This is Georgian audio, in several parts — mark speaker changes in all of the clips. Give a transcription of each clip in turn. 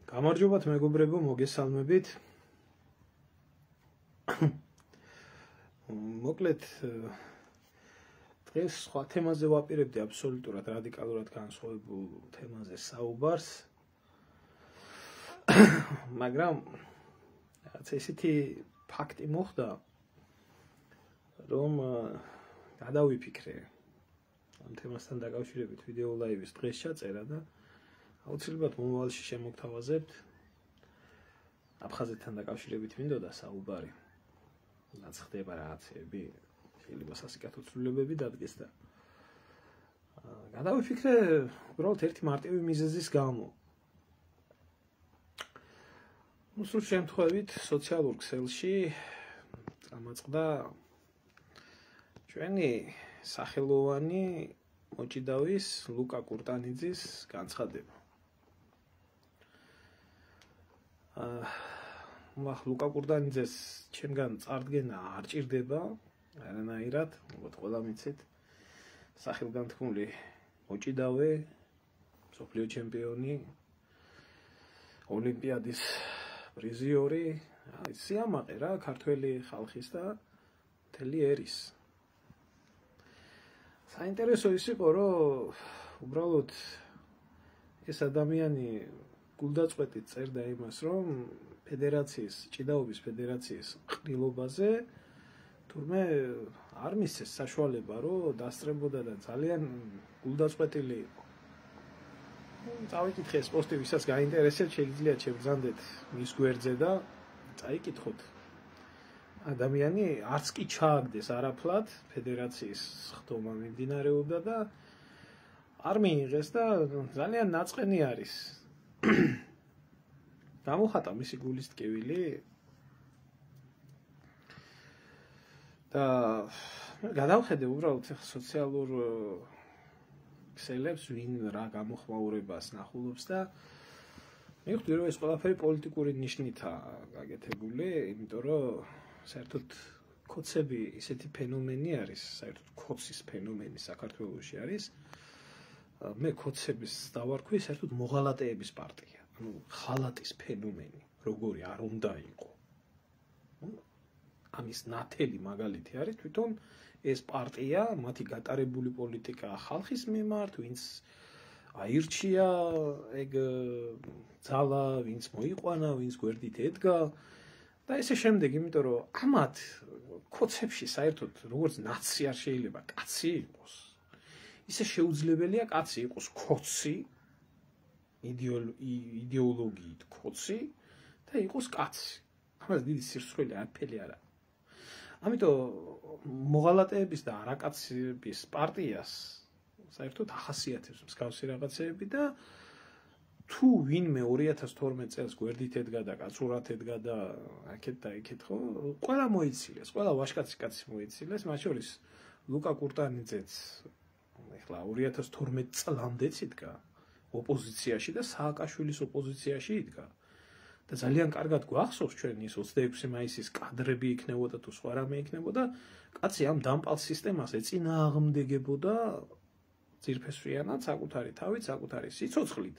Speaker 1: გამარჯობათ მეგობრებო, მოგესალმებით. მოკლედ დღეს სხვა თემაზე ვაპირებდი აბსოლუტურად რადიკალურად განსხვავებულ თემაზე საუბარს. მაგრამ რაც ესეთი ფაქტი მოხდა, რომ გადავიფიქრე ამ თემასთან დაკავშირებით ვიდეო ლაივის დღეს ჩაწერა და აუცილებლად მომავალში შემოგთავაზებთ აფხაზეთთან დაკავშირებით მინდოდა საუბარი. რაც ხდება რაღაცები, შეიძლება სასიკათო ცვლილებები დადგეს და გადავიფიქრე უბრალოდ ერთი მარტივი მიზეზის გამო. სულ შემთხვევით სოციალურ ქსელში წამოწყდა ჩვენი სახელოვანი მოჭიდავის ლუკა კურტანიძის განცხადება. ლუკა კურტანიძეს ჩემგან წარდგენა არ ჭირდება, არანაირად, მოგოთ ყველა მიცით, სახელგანთქმული მოჭიდავე, მსოფლიო ჩემპიონი, ოლიმპიადის პრიზიორი, სიამაყე რა, ქართველი ხალხის და მთელი ერის. საინტერესო ის იყო, რომ უბრალოდ ეს ადამიანი გულდაწყვეტით წერდა იმას, რომ ფედერაციის, ჭიდაობის ფედერაციის ყრილობაზე თურმე არ მისცეს საშუალება, რომ დასწრებოდა და ძალიან გულდაწყვეტილი იყო. წავიკითხე ეს პოსტი, ვისაც გაინტერესებს, შეგიძლიათ შეგრძანდეთ მის გვერდზე და წაიკითხოთ. ადამიანი არც კი ჩააგდეს არაფლად, ფედერაციის ხდომა მიმდინარეობდა და არ მიიღეს და ძალიან ნაწყენი არის. გამოხატა მისი გულის ტკივილი და გადავხედე უბრალოდ სოციალურ ქსელებს, ვინ რა გამოხმაურებას ნახულობს და მივხვდი, რომ ეს ყველაფერი პოლიტიკური ნიშნითაა გაკეთებული, იმიტომ რომ საერთოდ ქოცები ისეთი ფენომენი არის, საერთოდ ქოცის ფენომენი საქართველოში არის. მე ქოცების დავარქვი საერთოდ მოღალატეების პარტია. ხალატის ფენომენი, როგორი არ უნდა იყო. ამის ნათელი მაგალითი არის თვითონ ეს პარტია, მათი გატარებული პოლიტიკა ხალხის მიმართ, ვინც აირჩია ეგ ძალა, ვინც მოიყვანა, ვინც გვერდით ედგა და ესე შემდეგ, იმიტომ რომ ამათ ქოცებში საერთოდ როგორც ნაცი არ შეიძლება კაცი იყოს. ისე შეუძლებელია კაცი იყოს ქოცი, იდეოლოგიით ქოცი და იყოს კაცი. ამას დიდი სირცხველი არაფერი არ აქვს. ამიტომ მოღალატეების და არაკაცების პარტიას საერთოდ ახასიათებს მსგავსი რაღაცეები და თუ ვინმე 2012 წელს გვერდით ედგა და კაცურად ედგა და აქეთ და იქეთ ხო, ყველა მოიცილეს, ყველა ვაჟკაცი კაცი მოიცილეს, მათ შორის ლუკა კურტანიძეც ეხლა 2012 წლამდეც იდგა ოპოზიციაში და სააკაშვილის ოპოზიციაში იდგა. და ძალიან კარგად გვახსოვს ჩვენ ის 26 მაისის კადრები იქნებოდა თუ სხვა რამე იქნებოდა, კაცი ამ დამპალ სისტემას ეწინააღმდეგებოდა ძირფესვიანად, საკუთარი თავით, საკუთარი სიცოცხლით.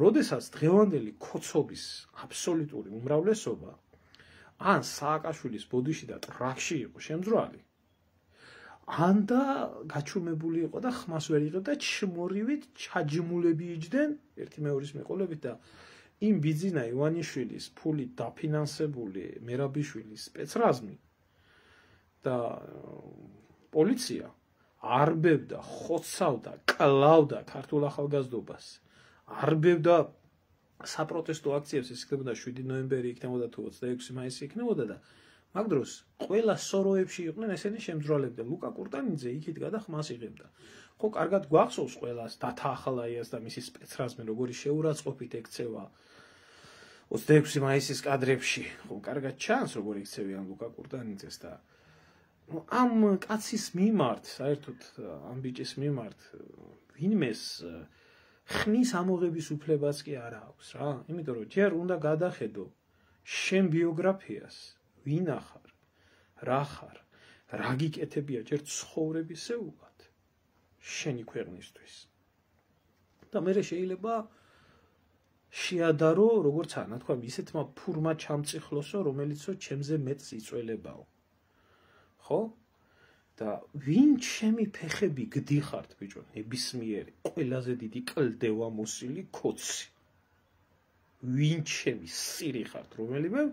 Speaker 1: როდესაც დღევანდელი ქოცობის აბსოლუტური უმრავლესობა ან სააკაშვილის ბოდიში და ტრაქში იყო შემძრალი, ან და გაჩუმებული იყო და ხმას ვერ იღებდა ჩმორივით ჩაჯმულები იჯდნენ ერთი მეორის მიყოლებით და იმ ბიძინა ივანიშვილის ფულით დაფინანსებული მერაბიშვილის სპეცრაზმი და პოლიცია არბევდა, ხოცავდა, კლავდა ქართულ ახალგაზრდობას, არბევდა საპროტესტო აქციებს, ეს იქნებოდა 7 ნოემბერი, იქნებოდა თუ 26 მაისი იქნებოდა და მაგ დროს ყველა სოროებში იყვნენ ესენი შემძრვალები და ლუკა კურტანიძე იქით გადა ხმას იღებდა. ხო, კარგად გვახსოვს ყველას დათა ახალაიას და მისი სპეცრაზმი, როგორი შეურაცხყოფით ექცევა 26 მაისის კადრებში. ხო, კარგად ჩანს, როგორი ექცევიან ლუკა კურტანიძეს და ამ კაცის მიმართ, საერთოდ ამ ბიჭის მიმართ ვინმეს ხნის ამოღების უფლებაც კი არ აქვს რა. იმიტომ რომ ჯერ უნდა გადახედო შენ ბიოგრაფიას, ვინ ახარ, რა ხარ, რა გიკეთებია ჯერ ცხოვრებისეულად შენი ქვეყნისთვის. და მე შეიძლება შეადარო, როგორც ანა თქვა, ისეთმა ფურმა ჩამწიხლოსო, რომელიცო ჩემზე მეტს იწველებაო. ხო? და ვინ ჩემი ფეხები გდიხართ, ბიჭო, ნებისმიერი, ყველაზე დიდი კლდევა მოსილი კოცი. ვინ ჩემი სირი ხართ, რომელიმე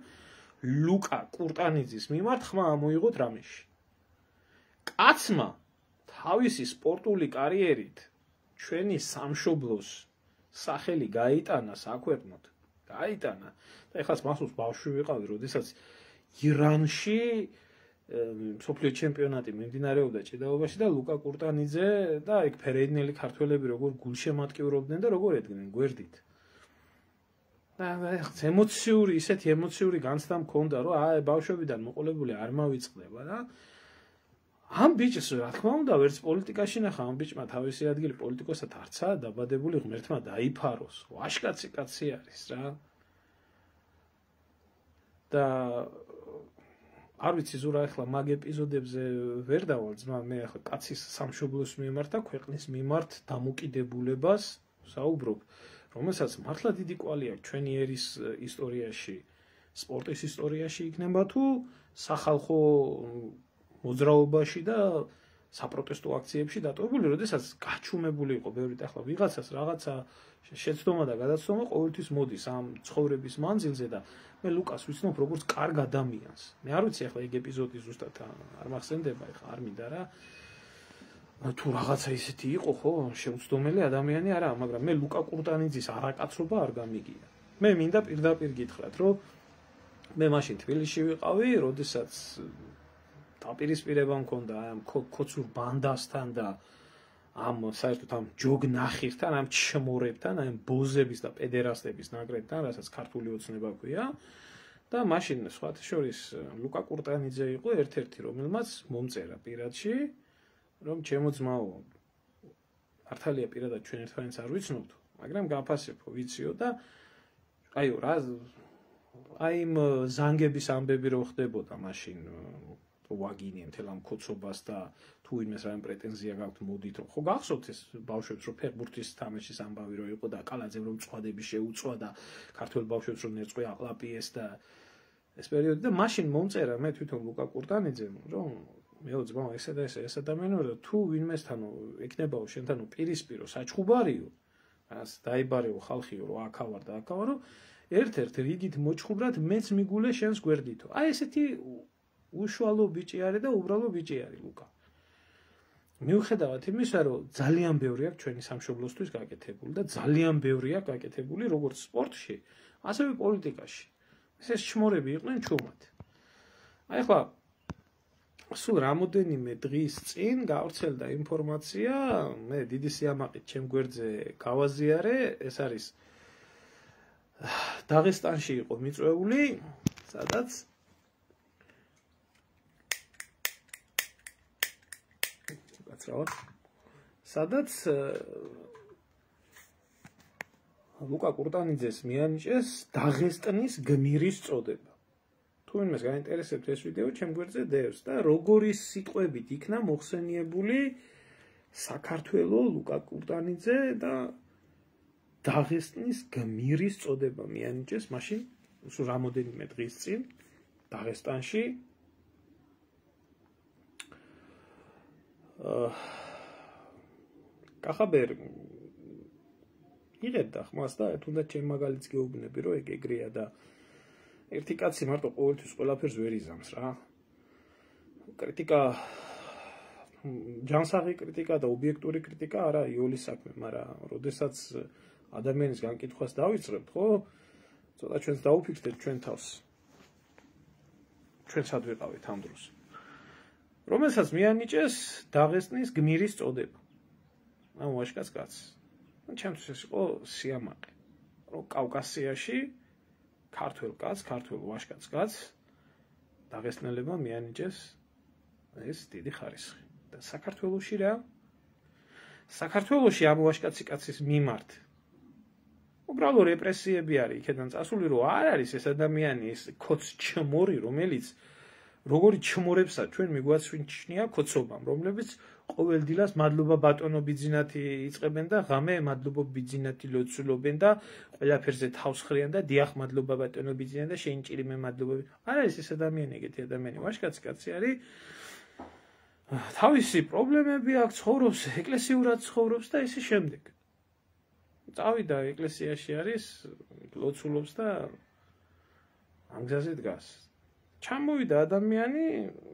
Speaker 1: ლუკა კურტანიძის მიმართ ხმა ამოიღოთ რამეში. კაცმა თავისი სპორტული კარიერით ჩვენი სამშობლოს სახელი გაიტანა საქვეყნოდ. გაიტანა. და ეხლა მახსოვს ბავშვი ვიყავი, როდესაც ირანში მსოფლიო ჩემპიონატი მიმდინარეობდა ჭიდაობაში და ლუკა კურტანიძე და ეგ ფერეიდნელი ქართველები როგორ გულშემატკივრობდნენ და როგორ ედგნენ გვერდით. და ემოციური, ისეთი ემოციური განცდა მქონდა, რომ აი ბავშვებიდან მოყოლებული არ მავიწყდება და ამ ბიჭს რა თქმა უნდა ვერც პოლიტიკაში ნახა, ამ ბიჭმა თავისი ადგილი პოლიტიკოსად არცა დაბადებული ღმერთმა დაიფაროს. ვაშკაცი კაცი არის რა. და არ ვიცი ზურა ახლა მაგ ეპიზოდებზე ვერ დავალ ძმა მე ახლა კაცის სამშობლოს მიმართ და ქვეყნის მიმართ დამოკიდებულებას საუბრობ, რომელსაც მართლა დიდი კვალი აქვს ჩვენი ერის ისტორიაში, სპორტის ისტორიაში იქნება თუ სახალხო მოძრაობაში და საპროტესტო აქციებში დატოვებული, როდესაც გაჩუმებული იყო ბევრი ახლა ვიღაცას რაღაცა შეცდომა და გადაცდომა ყოველთვის მოდის ამ ცხოვრების მანძილზე და მე ლუკას ვიცნობ როგორც კარგ ადამიანს. მე არ ვიცი ახლა ეგ ეპიზოდი ზუსტად არ მახსენდება, ახლა არ მინდა რა. თუ რაღაცა ისეთი იყო, ხო, შეუცდომელი ადამიანი არა, მაგრამ მე ლუკა კურტანიძის არაკაცრობა არ გამიგია. მე მინდა პირდაპირ გითხრათ, რომ მე მაშინ თბილისში ვიყავი, როდესაც დაპირისპირება მქონდა ამ კოცურ ბანდასთან და ამ საერთოდ ამ ჯოგნახირთან, ამ ჩმორებთან, ამ ბოზების და პედერასტების ნაკრებთან, რასაც ქართული ოცნება ქვია. და მაშინ სხვათა შორის ლუკა კურტანიძე იყო ერთ-ერთი, რომელმაც მომწერა პირადში, რომ ჩემო ძმაო, მართალია პირადად ჩვენ ერთმანეთს არ ვიცნობთ, მაგრამ გაფასებო, ვიციო და აიო რა აი იმ ზანგების ამბები რო ხდებოდა მაშინ ვაგინე მთელ ამ კოცობას და თუ იმეს რამე პრეტენზია გაქვთ მოდით რომ ხო გახსოვთ ეს ბავშვებს რომ ფეხბურთის თამაშის ამბავი რო იყო და კალაძემ რომ წვადები შეუწვა და ქართველ ბავშვებს რომ ნერწყვი აყლაპიეს და ეს პერიოდი და მაშინ მომწერა მე თვითონ ლუკა კურტანიძემ რომ მეო ძმა ესა და ეს ადამიანო და თუ ვინმესთანო ეკნებაო შენთანო პირისპირო საჩხუბარიო რას დაიბარეო ხალხიო რომ აქავარ და აქავარო ერთ-ერთ რიგით მოჩხუბრად მეც მიგულე შენს გვერდითო აი ესეთი უშუალო ბიჭი არის და უბრალო ბიჭი არის ლუკა. მიუხედავად იმისა, რომ ძალიან ბევრი აქვს ჩვენი სამშობლოსთვის გაკეთებული და ძალიან ბევრი აქვს გაკეთებული როგორც სპორტში, ასევე პოლიტიკაში. ეს ჩმორები იყვნენ ჩუმად. აი ახლა სულ რამოდენიმე დღის წინ გავრცელდა ინფორმაცია, მე დიდი სიამაყით ჩემ გვერდზე გავაზიარე, ეს არის დაღესტანში იყო მიწვეული, სადაც ლუკა კურტანიძეს მიანიჭეს დაღესტნის გმირის წოდება. თუ ვინმეს გაინტერესებთ ეს ვიდეო, ჩემ გვერდზე დევს და როგორი სიტყვებით იქნა მოხსენიებული საქართველოს ლუკა კურტანიძე და დაღესტნის გმირის წოდება მიანიჭეს მაშინ სულ რამოდენიმე დღის წინ დაღესტანში. კახაბერ იღებდა ხმას და თუნდაც ჩემ მაგალითს გეუბნები რომ ეგ ეგრეა და ერთი კაცი მარტო ყოველთვის ყველაფერს ვერ იზამს რა. კრიტიკა ჯანსაღი კრიტიკა და ობიექტური კრიტიკა არა იოლის საქმე, მაგრამ როდესაც ადამიანის განკითხვას დავიწყებთ, ხო? ცოტა ჩვენს დაუფიქრდეთ ჩვენ თავს. ჩვენ სად ვიყავით ამ დროს. რომელსაც მიანიჭეს დაღესტნის გმირის წოდება. ამ ვაშკაც კაცს. ჩემთვის ეს იყო სიამაყე, რომ კავკასიაში ქართველ კაცს, ქართველ ვაშკაც კაცს დაღესტნელებმა მიანიჭეს ეს დიდი ხარისხი. და საქართველოში რა? საქართველოში ამ ვაშკაცი კაცის მიმართ უბრალო რეპრესიები არის იქიდან წასული, რომ არ არის ეს ადამიანი, ეს კოც ჩმორი, რომელიც როგორი ჩმორებსაც ჩვენ მიგვაცვიჩნია კოცობამ, რომლებიც ყოველ დილას მადლობა ბატონო ბიძინათი იწყებენ და ღამე მადლობა ბიძინათი ლოცულობენ და ყველაფერზე თავს ხრიან და დიახ მადლობა ბატონო ბიძინათი და შენ ჭირი მე მადლობა. არა ეს ადამიანი ეგეთი ადამიანი ვაშკაცი კაცი არის. თავისი პრობლემები აქვს, ცხოვრობს, ეკლესიურად ცხოვრობს და ისე შემდეგ. წავიდა ეკლესიაში არის, ლოცულობს და ამ გზაზე დგას. ჩამოვიდა ადამიანი,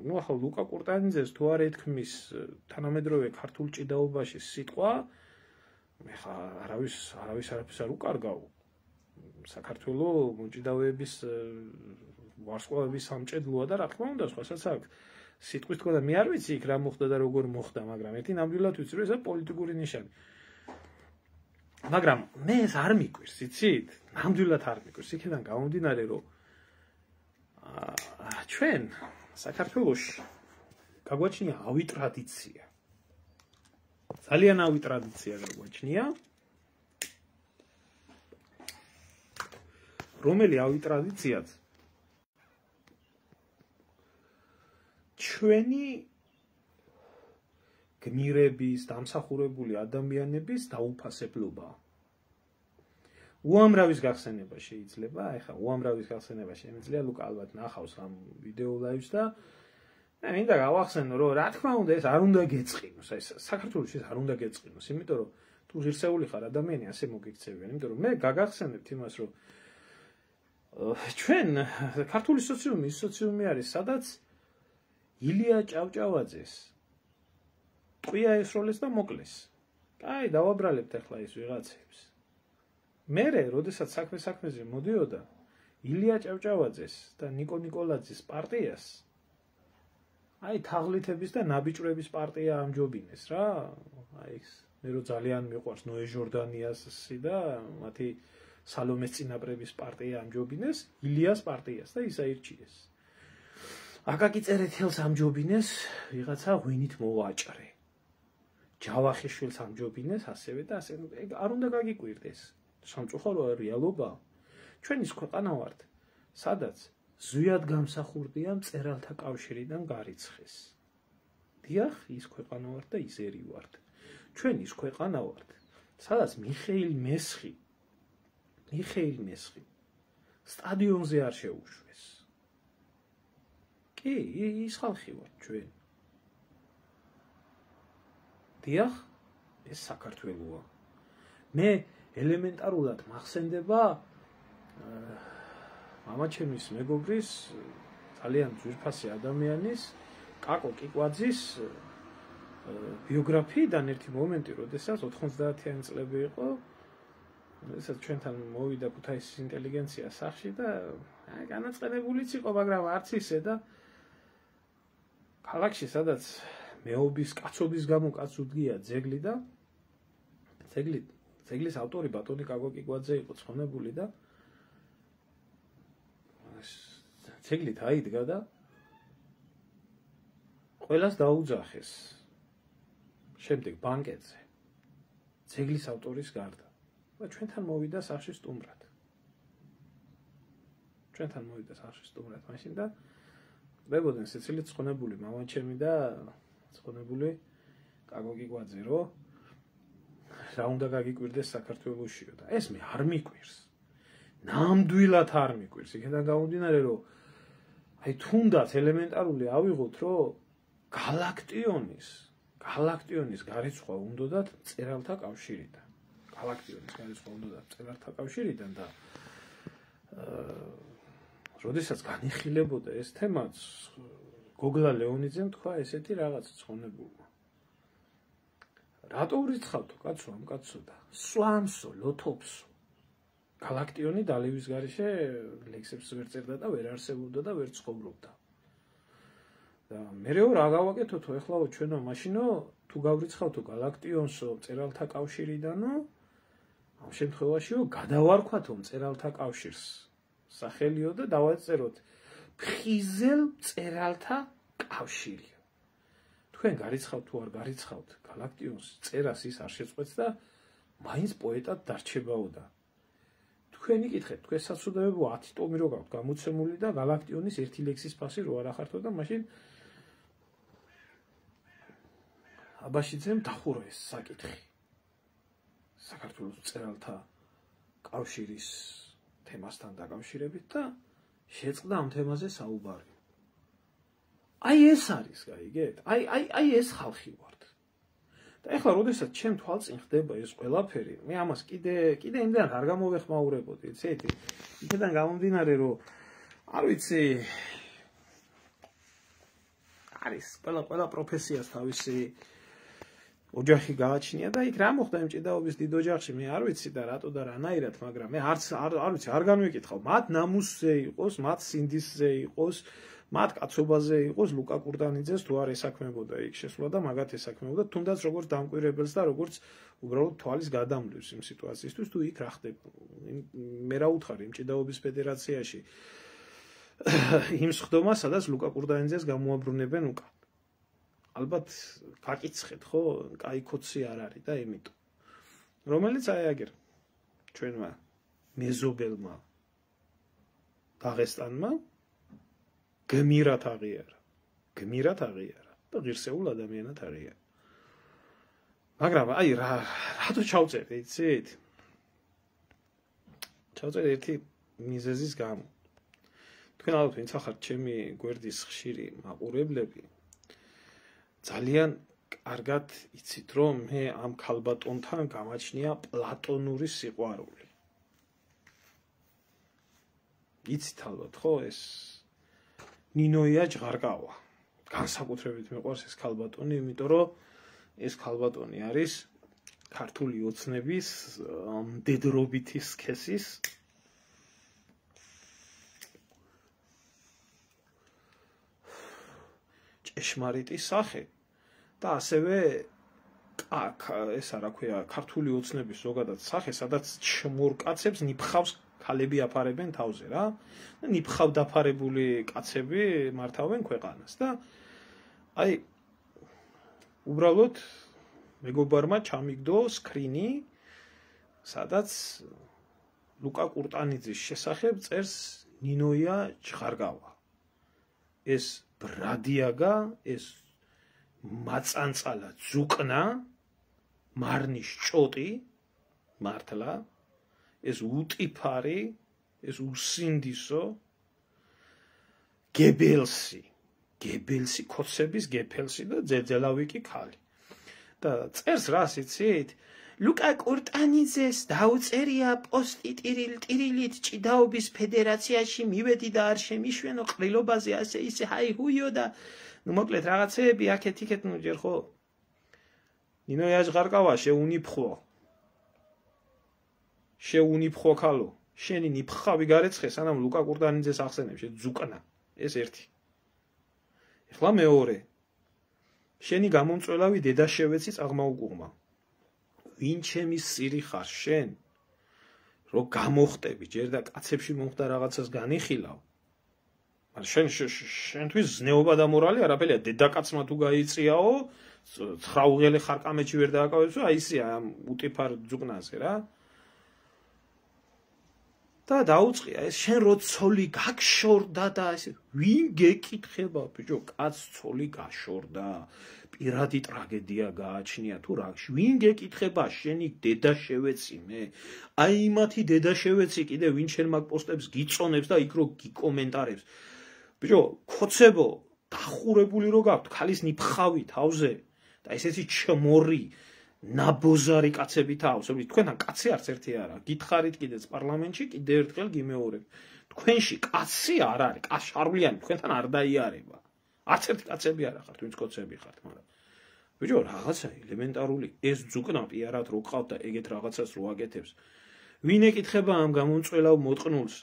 Speaker 1: ნუ ახლა ლუკა კურტანიძეს თუ არ ეთქმის თანამედროვე ქართულ ჭიდაობაში სიტყვა, მე ხა არავის არაფერს არ უკარგავ. საქართველოს მოჭიდავეების ვარსკვლავების სამჭედლოა და რა თქმა უნდა, სხვასაც აქვს. სიტყვის თქვა და მე არ ვიცი იქ რა მოხდა და როგორ მოხდა, მაგრამ ერთი ნამდვილად ვიცი, რომ ეს პოლიტიკური ნიშანი. მაგრამ მე ეს არ მიკვირს, იცით? ნამდვილად არ მიკვირს. იქიდან გამომდინარე, რომ ჩვენ საქართველოში გაგვაჩნია ავი ტრადიცია. ძალიან ავი ტრადიცია გაგვაჩნია. რომელი ავი ტრადიციაც ჩვენი გმირების, დამსახურებული ადამიანების დაუფასებლობაა. უამრავის გახსენება შეიძლება, ეხლა უამრავის გახსენება შემიძლია, ლუკა ალბათ ნახავს ამ ვიდეო ლაივს და მე მინდა გავახსენო, რომ რა თქმა უნდა ეს არ უნდა გეწყინოს, ეს საქართველოს ეს არ უნდა გეწყინოს, იმიტომ რომ თუ ღირსეული ხარ ადამიანი ასე მოგიქცევიან, იმიტომ რომ მე გაგახსენებთ იმას, რომ ჩვენ ქართული სოციუმი ის სოციუმი არის, სადაც ილია ჭავჭავაძეს ტყვია ესროლეს და მოკლეს. აი, დავაბრალებთ ახლა ის ვიღაცებს. მერე, როდესაც საქმეზე მოდიოდა ილია ჭავჭავაძეს და ნიკო ნიკოლაძის პარტიას, აი თაღლითების და ნაბიჭვრების პარტია ამჯობინეს რა. აი ეს მე რო ძალიან მიყვარს ნოე ჟორდანიასი და მათი სალომეს წინაპრების პარტია ამჯობინეს ილიას პარტიას და ის აირჩიეს. აკაკი წერეთელს ამჯობინეს ვიღაცა ღვინით მოვაჭრე. ჯავახიშვილს ამჯობინეს ასევე და ასე არ უნდა გაგიკვირდეს. სამწუხარო რეალობა. ჩვენ ის ქვეყანა ვართ, სადაც ზვიად გამსახურდია მწერალთა კავშირიდან გარიცხეს. დიახ, ის ქვეყანა ვართ და ისერი ვართ. ჩვენ ის ქვეყანა ვართ, სადაც მიხეილ მესხი სტადიონზე არ შეუშვეს. კი, ის ხალხი ვართ ჩვენ. დიახ, ეს საქართველოა. მე ელემენტარულად მახსენდება მამაჩემის მეგობრის ძალიან ძვირფასი ადამიანის კაკო კიკვაძის ბიოგრაფიიდან ერთი მომენტი, როდესაც 90-იანი წლები იყო, როდესაც ჩვენთან მოვიდა ქუთაისის ინტელიგენცია სახში და განაწყენებულიც იყო, მაგრამ არც ისე და ქალაქში, სადაც მეობის კაცობის გამო კაც უდგია ძეგლი და ძეგლის ავტორი ბატონი კაკო კიკვაძე იყო ცხონებული და ძეგლით აიდგა და ყველას დაუძახეს. შემდეგ ბანკეტზე ძეგლის ავტორის გარდა და ჩვენთან მოვიდა სახში სტუმრად. მაშინ და დებოდნენ სიცილით ცხონებული მამაჩემი და ცხონებული კაკო კიკვაძე, რომ რა უნდა გაგიკვირდეს საქართველოსშიო და ეს მე არ მიკვირს. ნამდვილად არ მიკვირს. იქიდან გამომდინარე, რომ აი თუნდაც ელემენტარული ავიღოთ, რომ galaktionis გარიცხვა უნდათ მწერალთა კავშირიდან. galaktionis გარიცხვა უნდათ მწერალთა კავშირიდან და როდესაც განიხილებოდა ეს თემაც, გოგლა ლეონიძემ თქვა ესეთი რაღაც ცხონებულმა. რატო ურიცხავთო კაცო ამ კაცო და სვამსო, ლოთოფსო. galaktioni დალივის გარეშე ლექსებს ვერ წერდა და ვერ არსებობდა და ვერ ცხოვრობდა. და მეეო რა გავაკეთოთო ეხლაო ჩვენო მაშინო თუ გავრიცხავთო galaktionsო მწერალთა კავშირიდანო ამ შემთხვევაშიო გადავარქვათო მწერალთა კავშირს სახელიო და დავაწეროთ ფხიზელ მწერალთა კავშირი. თქვენ გარიცხავთ თუ არ გარიცხავთ galaktions წერას ის არ შეწყვეტს და მაინც პოეტად დარჩებაო და თქვენი კითხეთ, თქვენ საცუდებებო 10 ტომი რო გაქვთ გამოცემული და galaktionis ერთი ლექსის ფასი რო არ ახართო და მაშინ აბაშიძემ დახურა ეს საკითხი საქართველოს მწერალთა კავშირის თემასთან დაკავშირებით და შეწყდა ამ თემაზე საუბარი. აი ეს არის, გაიგეთ? აი ეს ხალხი ვართ. და ეხლა როდესაც ჩემ თვალწინ ხდება ეს ყველაფერი, მე ამას კიდე იმდან არ გამოვეხმაურებოდი, იცით? იქიდან გამომდინარე, რომ არ ვიცი არის ყველა პროფესიას თავისი ოჯახი გააჩნია და იქ რა მოხდა იმ ჭიდაობის დიდ ოჯახში მე არ ვიცი და რატო და რანაირად, მაგრამ მე არ ვიცი, არ განვიკითხავ. მათ ნამუსზე იყოს, მათ სინდისზე იყოს, მათ კაცობაზე იყოს ლუკა კურტანიძეს თუ არ ესაქმებოდა იქ შესვლა და მაგათ ესაქმებოდა, თუნდაც როგორც დამკვირვებელს და როგორც უბრალოდ თვალის გადამვლევს იმ სიტუაციისთვის, თუ იქ რა ხდება. მე რა უთხარი იმ ჭიდაობის ფედერაციაში იმ სხდომას, სადაც ლუკა კურტანიძეს გამოაბრუნებენ უკან. ალბათ გაკიცხეთ, ხო? კაი კოცი არ არის და იმიტომ. რომელიც აი აგერ ჩვენმა მეზობელმა დაღესტანმა გმირად აღიარა და ღირსეულ ადამიანად აღიარა. მაგრამ აი რატო ჩავწერე, იცით? ჩავწერე ერთი მიზეზის გამო. თქვენ ალბათ ვინც ახართ ჩემი გვერდის ხშირი მაყურებლები, ძალიან კარგად იცით, რომ მე ამ ქალბატონთან გამაჩნია პლატონური სიყვარული. იცით ალბათ, ხო, ეს ნინოია ჟღარკავა. განსაკუთრებით მიყვარს ეს ქალბატონი, იმიტომ რომ ეს ქალბატონი არის ქართული ოცნების მდედრობითი სქესის ჭეშმარიტი სახე და ასევე ესა რა ქვია, ქართული ოცნების ზოგადად სახე, სადაც ჩმორკაცებს ნიფხავს ქალები აფარებენ თავზე რა. ნიფხავ დაფარებული კაცები მართავენ ქვეყანას და აი უბრალოდ მეგობარმა ჩამიგდო სკრინი, სადაც ლუკა კურტანიძის შესახებ წერს ნინოია ჟღარკავა. ეს ბრადიაგა, ეს მაწანწალა ძუკნა, მარნის ჭოტი, მართლა, ეს უტიფარი, ეს უსინდისო, გებელსი, კოცების გეფელსი და ძეძელავიკი ქალი. და წერს რას იცით? ლუკა კურტანიძეს დაუწერია პოსტი ტირილით ჭიდაობის ფედერაციაში მივედი და არ შემიშვენო ყრილობაზე ასე ისე ჰაიჰუიო და ნუ მოკლედ რაღაცეები აქეთ-იქეთ ნუ ჯერ ხო ნინოია ჟღარკავა შეუნიფხო ქალო შენი ნიფხავი გარეცხე სანამ ლუკა კურტანიძეს ახსენებ ძუკნა ეს ერთი. ეხლა მეორე შენი გამომწველავი დედაშევეცი წაღმაუკუღმა. ვინ ჩემი სირი ხარ შენ? რომ გამოხტები, ჯერ და კაცებში მომხდა რაღაცას განიხილავ. მაგრამ შენთვის ზნეობა და მორალი არაფერია, დედაკაცმა თუ გაიწიაო, 9 უღელე ხარ კამეჩი ვერ დააკავებს, აი ისია ამ უტიფარ ძუკნაზე რა. და დაუწყია ეს შენ რო ცოლი გაგშორდა და ეს ვინ გეკითხება ბიჭო, კაც ცოლი გაშორდა. პირადი ტრაგედია გააჩნია თუ რა, ვინ გეკითხება შენი დედაშევეცი მე? აი იმათი დედაშევეცი კიდე ვინ შენ მაგ პოსტებს გიწონებს და იქ რო გიკომენტარებს. ბიჭო, ხოცებო, დახურებული რო გაქვთ ქალის ნიფხავი თავზე და ესეთი ჩმორი ნაბოზარი კაცები თავზე. თქვენთან კაცი არც ერთი არა. გითხარით კიდეც პარლამენტში, კიდე ერთხელ გიმეორებ. თქვენში კაცი არ არის, კაშარვლიანი თქვენთან არ დაიარება. არც ერთი კაცები არ ხართ, ვინც კოცები ხართ, მაგრამ ბიჭო, რაღაცა ელემენტარული ეს ძუკნა პიარად რო ყავთ და ეგეთ რაღაცას რო აკეთებს. ვინ ეკითხება ამ გამომწველავ მოტყნულს?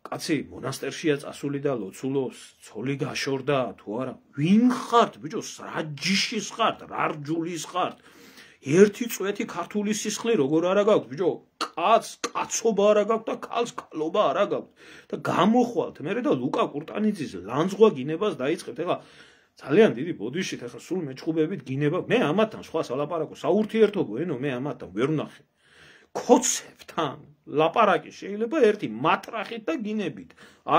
Speaker 1: კაცი მონასტერშია წასული და ლოცულობს, ცოლი გაშორდა თუ არა? ვინ ხართ, ბიჭო, რა ჯიშის ხართ, რა რჯულის ხართ? ერთი წვეთი ქართული სისხლი როგორ არა გაქვთ, ბიჭო? კაცობა არა გაქვთ და ქალს ქალობა არა გაქვთ. და გამოხვალთ მერე და ლუკა კურტანიძის ლანძღვა გინებას დაიწყებთ. ეხლა ძალიან დიდი ბოდიშით, ეხლა სულ მეჩხუბებით გინება. მე ამათთან სხვა სალაპარაკო საურთიერთობო ენო მე ამათთან ვერ ვნახე. კოცებთან ლაპარაკი შეიძლება ერთი მატრახით და გინებით.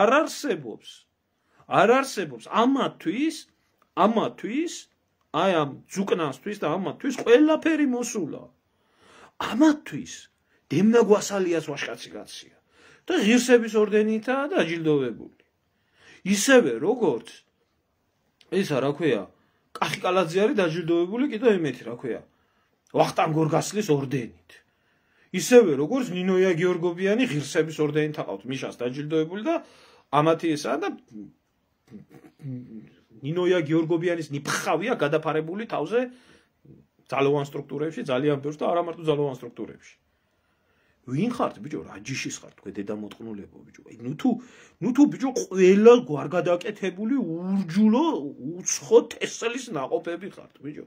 Speaker 1: არ არსებობს. ამათვის აი ამ ძუკნასთვის და ამათთვის ყველაფერი მოსულა. ამათთვის დემნა გვასალიას ვაშკაცი გაცია და ღირსების ორდენითაა დაჯილდოვებული. ისევე როგორც ისა რა ქვია, კახიკალაძე არის დაჯილდოვებული კიდევ იმეთი რა ქვია, ვახტანგ გორგასლის ორდენით. ისევე როგორც ნინოია გიორგობიანი ღირსების ორდენით აყავთ მიშას დაჯილდოვებული და ამათი ესაა და ნინოია გიორგობიანის ნიფხავია გადაფარებული თავზე ძალოვან სტრუქტურებში, ძალიან ბევრს და არა მარტო ძალოვან სტრუქტურებში. ვინ ხართ ბიჭო, რა ჯიშის ხართ თქვენ დედამოწყნულებო ბიჭო. ნუ თუ ბიჭო ყველა გვარგადაკეთებული ურჯულო უცხო თესლის ნაყოფები ხართ ბიჭო.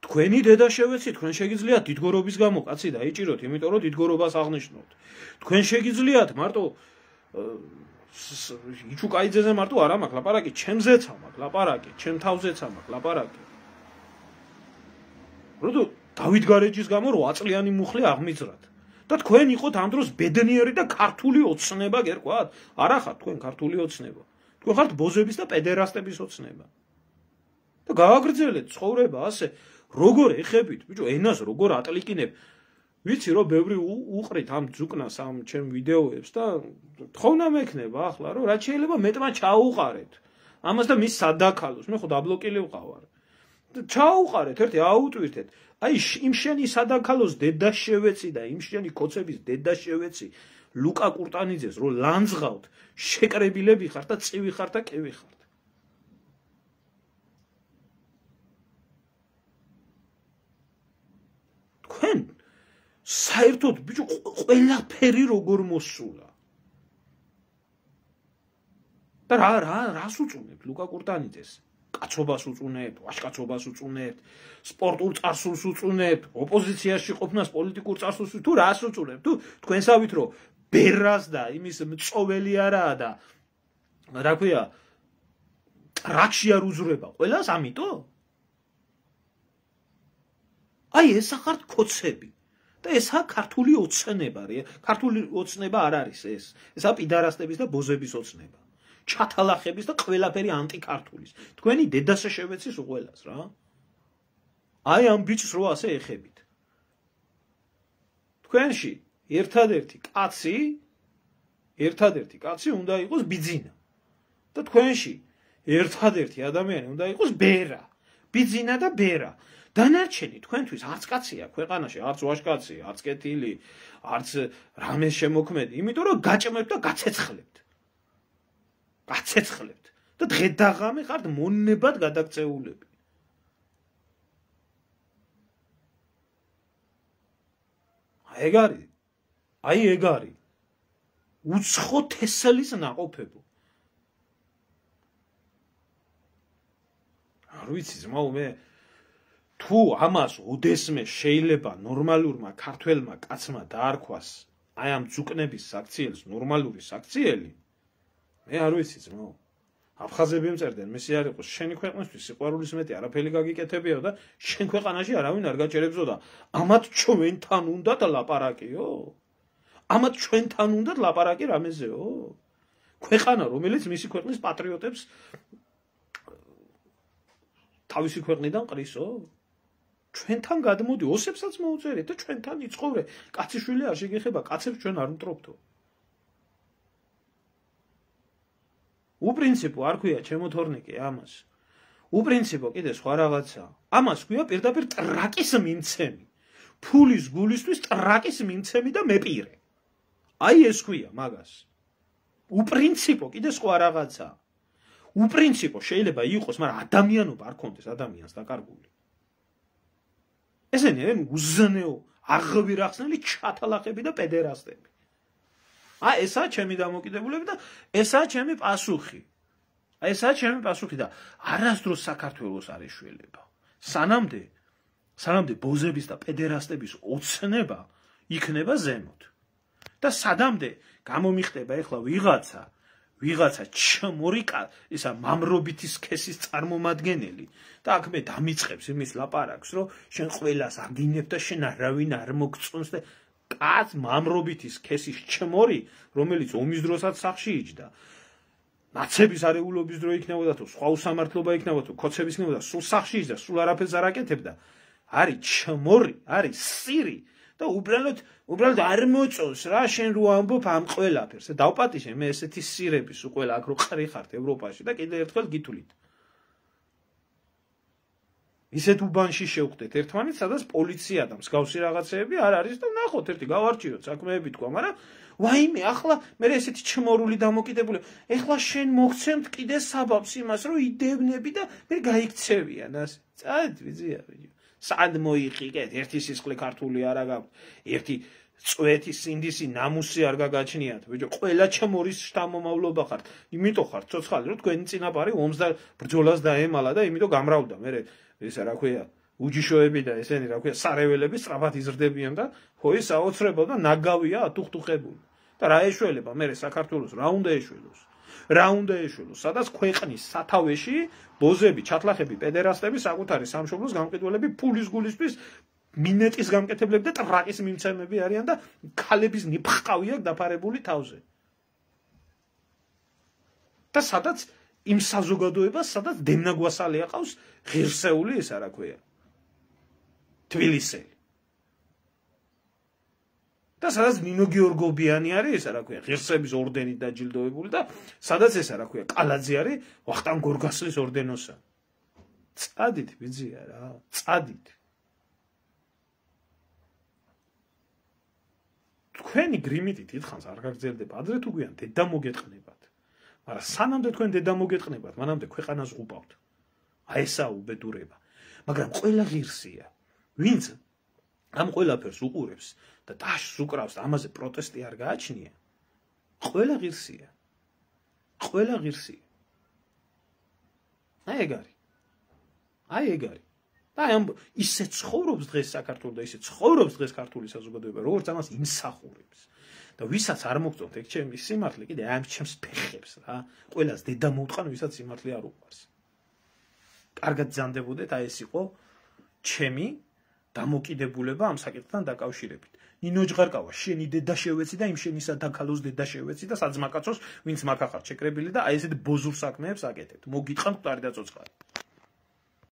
Speaker 1: თქვენი დედა შევეცით, თქვენ შეგიძლიათ დიდგორობის გამო კაცი დაიჭიროთ, იმიტომ რომ დიდგორობას აღნიშნოთ. თქვენ შეგიძლიათ მარტო იჩუკაიძეზე მარტო არ მაქვს ლაპარაკი, ჩემზეც მაქვს ლაპარაკი, ჩემ თავზეც მაქვს ლაპარაკი. როდო დავით გარეჯის გამო 8 წლიანი მუხლი აღმიძრათ. და თქვენ იყოთ ამ დროს ბედნიერი და ქართული ოცნება გერკვათ? არა ხართ თქვენ ქართული ოცნება. თქვენ ხართ ბოზების და პედერასტების ოცნება. და გააგრძელეთ ცხოვრება ასე, როგორ ეხებით, ბიჭო, ენას როგორ ატლიკინებ. ვიცი რომ ბევრი უყრით ამ ძუკნას ამ ჩემ ვიდეოებს და თხოვნა მექნება ახლა რომ რაც შეიძლება მეტმა ჩაუყარეთ. ამას და მის სადაქალოს, მე ხო დაბლოკილი ვყავარ. ჩაუყარეთ, ერთი აუტვირთეთ. აი იმ შენი სადაქალოს დედა შევეცი და იმ შენი კოცების დედა შევეცი ლუკა კურტანიძეს რომ ლანძღავთ, შეკრებილები ხართ და წივი ხართ და კევი ხართ. თქვენ საერთოდ ბიჭო ყველაფერი როგორ მოსულა. და რას უწუნებთ ლუკა კურტანიძეს? კაცობას უწუნებთ, ვაშკაცობას უწუნებთ, სპორტულ წარსულს უწუნებთ, ოპოზიციაში ყოფნას პოლიტიკურ წარსულს თუ რას უწუნებთ? თუ თქვენსავით რომ ბერას და იმის მწოველი არაა და რა ქვია, ტრაქში არ უზრება ყველას ამიტომ? აი ესა ხართ კოცები. და ესა ქართული ოცნება, ქართული ოცნება არ არის ეს. ესა პიდარასტების და ბოზების ოცნება. ჩათალახების და ყველაფერი ანტიკართულის. თქვენი დედასე შევეცის უყველას რა. აი ამ ბიჭს რო ასე ეხებით. თქვენში ერთადერთი კაცი უნდა იყოს ბიძინა. და თქვენში ერთადერთი ადამიანი უნდა იყოს ბერა. ბიძინა და ბერა. დანარჩენი თქვენთვის არც კაცია ქვეყანაში, არც ვაშკაცი, არც კეთილი, არც რამეს შემოქმედი, იმიტომ რომ გაჭმევთ და გაცეცხლებთ. გაცეცხლებთ და დღე-დაღამე ხართ მონებად გადაქცეულები. აი ეგ არის. უცხო თესლის ნაყოფებო. არ ვიცი ძმაო, მე თუ ამას ოდესმე შეიძლება ნორმალურმა ქართველმა კაცმა დაარქვას აი ამ ძუკნების საქციელს ნორმალური საქციელი, მე არ ვიცი ძმაო. აფხაზები მწერდნენ, მესი არ იყოს შენი ქვეყნისთვის სიყვარულის მეტი არაფერი გაგიკეთებიაო და შენ ქვეყანაში არავინ არ გაჭერებსო და ამათ ჩვენთან უნდათ ლაპარაკიო? ამათ ჩვენთან უნდათ ლაპარაკი რამეზეო? ქვეყანა რომელიც მისი ქვეყნის პატრიოტებს თავისი ქვეყნიდან ყრისო? ჩვენთან გადმოდი, ოსებსაც მოუწერეთ და ჩვენთან იცხოვრე. კაციშვილი არ შეგეხება, კაცებს ჩვენ არ ვმტრობთო. უპრინციპო არ ქვია ჩემო თორნიკე ამას. უპრინციპო კიდე სხვა რაღაცა. ამას ქვია პირდაპირ ტრაკის მიმცემი. ფულის გულისთვის ტრაკის მიმცემი და მეპირე. აი ეს ქვია მაგას. უპრინციპო კიდე სხვა რაღაცა. უპრინციპო შეიძლება იყოს, მაგრამ ადამიანობა არ კონდეს ადამიანს დაკარგული. ესენი უზნეო, აღვირახსნელი ჩათალახები და პედერასტები. აი ესაა ჩემი დამოკიდებულება და ესაა ჩემი პასუხი. აი ესაა ჩემი პასუხი და არასდროს საქართველოს არ ეშველება. სანამდე ბოზების და პედერასტების ოცნება იქნება ზემოთ. და სადამდე გამომიხდება ეხლა ვიღაცა ჩმორიკა ისა მამრობითი სქესის წარმომადგენელი და აქ მე დამიწყებს იმის ლაპარაკს რომ შენ ყველას აგინებ და შენ არავინ არ მოგწონს და კაც მამრობითი სქესის ჩმორი რომელიც ომის დროსაც სახში იჯდა ნაცების არეულობის დრო იქნებოდა თუ სხვა უსამართლობა იქნებოდა თუ ქოცების იქნებოდა სულ სახში ის და სულ არაფერს არ აკეთებდა არის ჩმორი არის სირი და უბრალოდ არ მოწონს რა შენ რო ამბობ ამ ყველაფერს დავპატიშე მე ესეთი სირების უყველა აქ რო ყრი ხართ ევროპაში და კიდე ერთხელ გითვლით ისეთ უბანში შევხვდეთ ერთმანეთს სადაც პოლიცია და მსგავსი რაღაცეები არ არის და ნახოთ ერთი გავარჩიოთ საქმეები თქვა მაგრამ ვაიმე ახლა მე ესეთი ჩმორული დამოკიდებული ეხლა შენ მოგცემთ კიდე საბაბს იმას რომ იდევნები და მე გაიქცევიან ასე წად ვიზია სად მოიყიდეთ ერთი სისხლი ქართული არა გაქვთ ერთი წვეთი სინდისი ნამუსი არ გაგაჩნიათ ბიჭო ყველა ჩმორის შთამომავლობა ხართ იმიტომ ხართ ცოცხალი რომ თქვენი წინაპარი ომს და ბრძოლას დაემალა და იმიტომ გამრავლდა მე ესა რა ქვია უჯიშოები და ესენი რა ქვია სარეველები სწრაფად იზრდებიან და ხო ის საოცრება და ნაგავია ათუხტუხებული და რა ეშველება მე საქართველოს რა უნდა ეშველოს სადაც ქვეყნის სათავეში ბოზები ჩათლახები პედერასტები საკუთარი სამშობლოს გამყიდველები ფულის გულისთვის მინეტის გამკეთებლები და ტრაკის მიმცემები არიან და ქალების ნიფხყავი აქვს დაფარებული თავზე და სადაც იმ საზოგადოებას სადაც დემნაგვასალი აყავს ღირსეული ეს რა ქვია თბილისელი და სადაც ნინო გიორგობიანი არის ეს რა ქვია ღირსების ორდენით დაჯილდოებული და სადაც ეს რა ქვია კალაძე არის ვახტანგ გორგასლის ორდენოსა წადით ბიძია რა წადით თქვენი გრიმიტი დიდხანს არ გაგრძელდება ადრე თუ გვიან დედა მოგეტყნებათ მაგრამ სანამდე თქვენ დედა მოგეტყნებათ მანამდე ქვეყანას უყავთ აი ესა უბედურება მაგრამ ყველა ღირსია ვინც ამ ყველაფერს უყურებს და დაშს უკრავს და ამაზე პროტესტი არ გააჩნია ყველა ღირსია აი ეგ არის და ამ ისე ცხოვრობს დღეს საქართველოს და ისე ცხოვრობს დღეს ქართული საზოგადოება როგორც ამას იმსახურებს და ვისაც არ მოგწონთ ეგ ჩემი სიმართლე კიდე ამ ჩემს ფეხებს რა ყველას დედა მოუტყან ვისაც სიმართლე არ უყვარს კარგად ძანდებოდეთ აი ეს იყო ჩემი დამოკიდებულება ამ საკითხთან დაკავშირებით ნინო ჯღარკავა შენი დედა შევეცი და იმ შენი სადაქალოს დედა შევეცი და საძმაკაცოს ვინც მაგახარ შეკრებილი და აი ესეთ ბოზურ საქმეებს აკეთებთ მოგიტყანთ მკვდარი და ცოცხალი